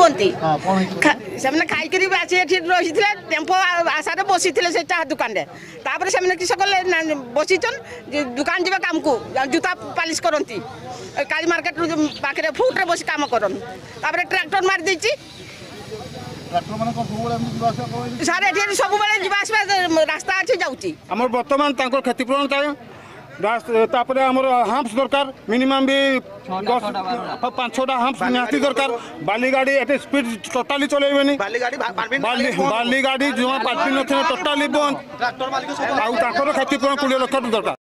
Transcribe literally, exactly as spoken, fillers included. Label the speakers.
Speaker 1: ହୁଅନ୍ତି। ସେମାନେ ଖାଇକିରି ଆସି ଏଠି ରହିଥିଲେ, ଟେମ୍ପୋ ଆଶାରେ ବସିଥିଲେ ସେ ଚାହା ଦୋକାନରେ। ତାପରେ ସେମାନେ କିସ କଲେ, ବସିଛନ୍, ଦୋକାନ ଯିବା କାମକୁ, ଜୁତା ପାଲିଶ କରନ୍ତି କାଳି ମାର୍କେଟ ପାଖରେ, ଫୁଟରେ ବସି କାମ କରନ୍। ତାପରେ ଟ୍ରାକ୍ଟର ମାରି ଦେଇଛି ସାର୍। ଏଠି ସବୁବେଳେ ଯିବା ଆସିବା ରାସ୍ତା ଅଛି, ଯାଉଛି।
Speaker 2: ଆମର ବର୍ତ୍ତମାନ ତାଙ୍କର କ୍ଷତିପୂରଣ ଚାହେଁ। ତାପରେ ଆମର ହାମ୍ପସ ଦରକାର, ମିନିମମ୍ ବି ଦଶ ପାଞ୍ଚ ଛଅଟା ହାମ୍ପସ ନିହାତି ଦରକାର। ବାଲି ଗାଡ଼ି ଏଠି ସ୍ପିଡ୍ ଟୋଟାଲି ଚଲେଇବେନି। ବାଲି ଗାଡ଼ି ଜମା ପାର୍ଟି ନଥିଲେ, ଟୋଟାଲି ବନ୍ଦ। ଆଉ ତାଙ୍କର କ୍ଷତିପୂରଣ କୋଡ଼ିଏ ଲକ୍ଷ ଦରକାର।